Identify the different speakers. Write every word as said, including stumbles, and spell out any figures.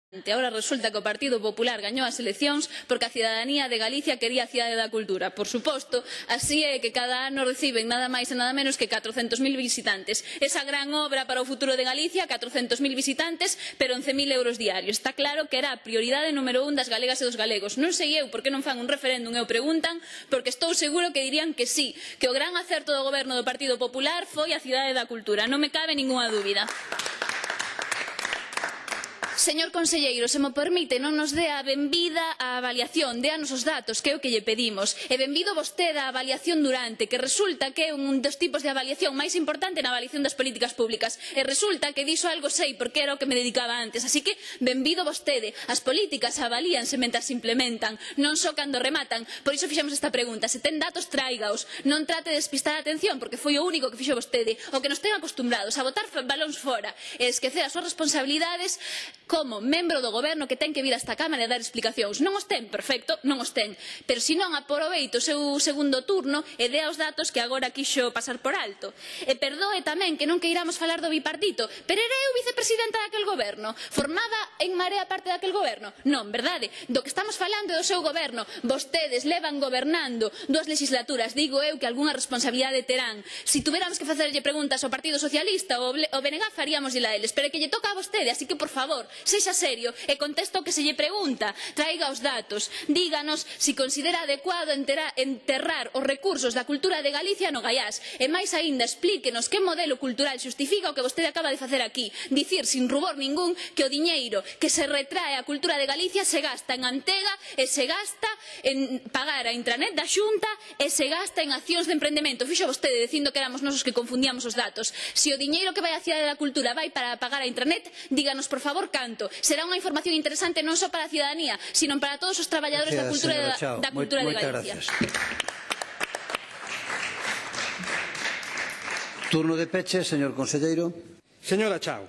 Speaker 1: Ahora resulta que o Partido Popular gañou as eleccións porque a cidadanía de Galicia quería a cidade da cultura. Por suposto, así é que cada ano reciben nada máis e nada menos que catrocentos mil visitantes. Esa gran obra para o futuro de Galicia, catrocentos mil visitantes, pero once mil euros diarios. Está claro que era a prioridade número un das galegas e dos galegos. Non sei eu por que non fan un referéndum e o preguntan, porque estou seguro que dirían que sí, que o gran acerto do goberno do Partido Popular foi a cidade da cultura. Non me cabe ningunha dúbida. Señor conselleiro, se mo permite, non nos dé a benvida á avaliación, déanos os datos, que é o que lle pedimos. E benvido vostede á avaliación durante, que resulta que é un dos tipos de avaliación máis importante na avaliación das políticas públicas. E resulta que diso algo sei, porque era o que me dedicaba antes. Así que, benvido vostede. As políticas avalíanse mentras se implementan, non só cando rematan. Por iso fixemos esta pregunta. Se ten datos, tráigaos. Non trate de despistar a atención, porque foi o único que fixo vostede. O que nos ten acostumbrados a botar balóns fora e esquecer as súas responsabilidades como membro do goberno que ten que vir a esta Cámara e dar explicacións. Non os ten, perfecto, non os ten. Pero se non, aproveite o seu segundo turno e dea os datos que agora quixo pasar por alto. E perdoe tamén que non queiramos falar do bipartito, pero era eu vicepresidenta daquel goberno. Formaba en Marea parte daquel goberno? Non, verdade? Do que estamos falando é do seu goberno. Vostedes levan gobernando dúas legislaturas. Digo eu que algunha responsabilidade terán. Se tuveramos que facerlle preguntas ao Partido Socialista ou ao B N G faríamos a eles, pero é que lle toca a vostede, así que, por favor, sexa serio e contesta o que se lle pregunta, traiga os datos, díganos se considera adecuado enterrar os recursos da cultura de Galicia no Gaiás e máis aínda explíquenos que modelo cultural xustifica o que vostede acaba de facer aquí, dicir sin rubor ningún que o diñeiro que se retrae a cultura de Galicia se gasta en Antega e se gasta en pagar a intranet da Xunta e se gasta en accións de emprendemento. Fixo vostede dicindo que éramos nosos que confundíamos os datos. Se o diñeiro que vai á cidade da cultura vai para pagar a intranet, díganos por favor canto. Será unha información interesante non só para a cidadanía, sino para todos os traballadores da cultura da cultura de Galicia.
Speaker 2: Turno de peche, señor conselleiro.
Speaker 3: Señora Chao,